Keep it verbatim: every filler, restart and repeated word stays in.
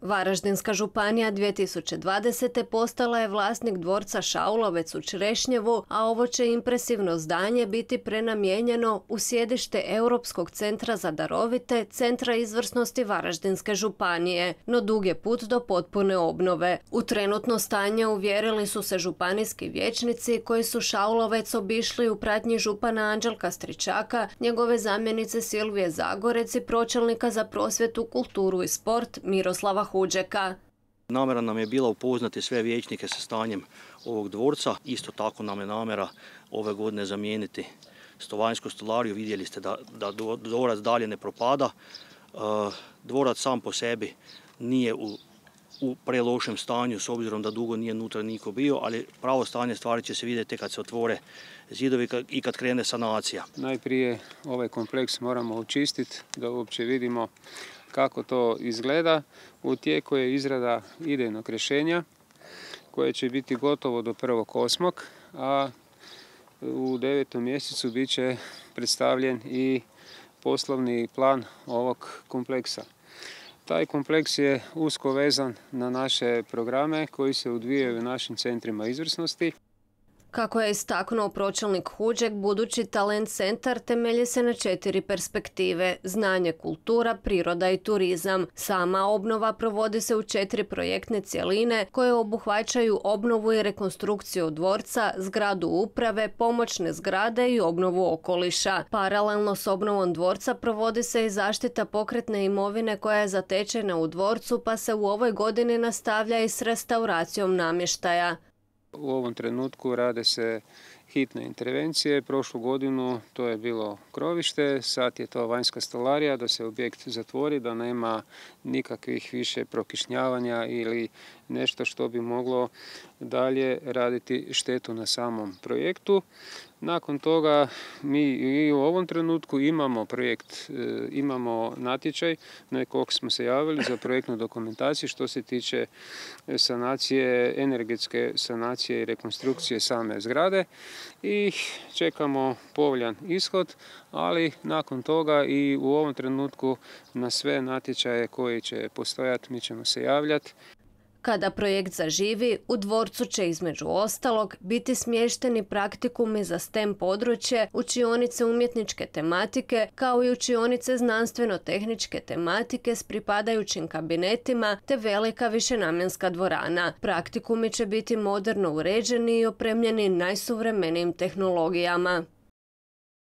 Varaždinska županija dvije tisuće dvadesete. postala je vlasnik dvorca Šaulovec u Črešnjevu, a ovo će impresivno zdanje biti prenamijenjeno u sjedište Europskog centra za darovite, Centra izvrsnosti Varaždinske županije, no dug je put do potpune obnove. U trenutno stanje uvjerili su se županijski vijećnici koji su Šaulovec obišli u pratnji župana Anđelka Stričaka, njegove zamjenice Silvije Zagorec i pročelnika za prosvjetu, kulturu i sport Miroslava Huđeka. Namjera nam je bila upoznati sve vijećnike sa stanjem ovog dvorca. Isto tako nam je namjera ove godine zamijeniti stovanjsku stolariju. Vidjeli ste da, da dvorac dalje ne propada. Dvorac sam po sebi nije u, u prelošem stanju, s obzirom da dugo nije unutra niko bio, ali pravo stanje stvari će se vidjeti kad se otvore zidovi i kad krene sanacija. Najprije ovaj kompleks moramo očistiti da uopće vidimo kako to izgleda. U tijeku je izrada idejnog rješenja koje će biti gotovo do prvog osmog a u devetom mjesecu bit će predstavljen i poslovni plan ovog kompleksa. Taj kompleks je usko vezan na naše programe koji se odvijaju u našim centrima izvrsnosti. Kako je istaknuo pročelnik Huđek, budući talent centar temelji se na četiri perspektive: znanje, kultura, priroda i turizam. Sama obnova provodi se u četiri projektne cjeline koje obuhvaćaju obnovu i rekonstrukciju dvorca, zgradu uprave, pomoćne zgrade i obnovu okoliša. Paralelno s obnovom dvorca provodi se i zaštita pokretne imovine koja je zatečena u dvorcu, pa se u ovoj godini nastavlja i s restauracijom namještaja. U ovom trenutku rade se hitne intervencije. Prošlu godinu to je bilo krovište, sad je to vanjska stolarija, da se objekt zatvori, da nema nikakvih više prokišnjavanja ili nešto što bi moglo dalje raditi štetu na samom projektu. Nakon toga mi i u ovom trenutku imamo projekt, imamo natječaj na kog smo se javili za projektnu dokumentaciju što se tiče sanacije, energetske sanacije i rekonstrukcije same zgrade i čekamo povoljan ishod, ali nakon toga i u ovom trenutku na sve natječaje koji će postojati mi ćemo se javljati. Kada projekt zaživi, u dvorcu će između ostalog biti smješteni praktikumi za STEM područje, učionice umjetničke tematike, kao i učionice znanstveno-tehničke tematike s pripadajućim kabinetima te velika višenamjenska dvorana. Praktikumi će biti moderno uređeni i opremljeni najsuvremenijim tehnologijama.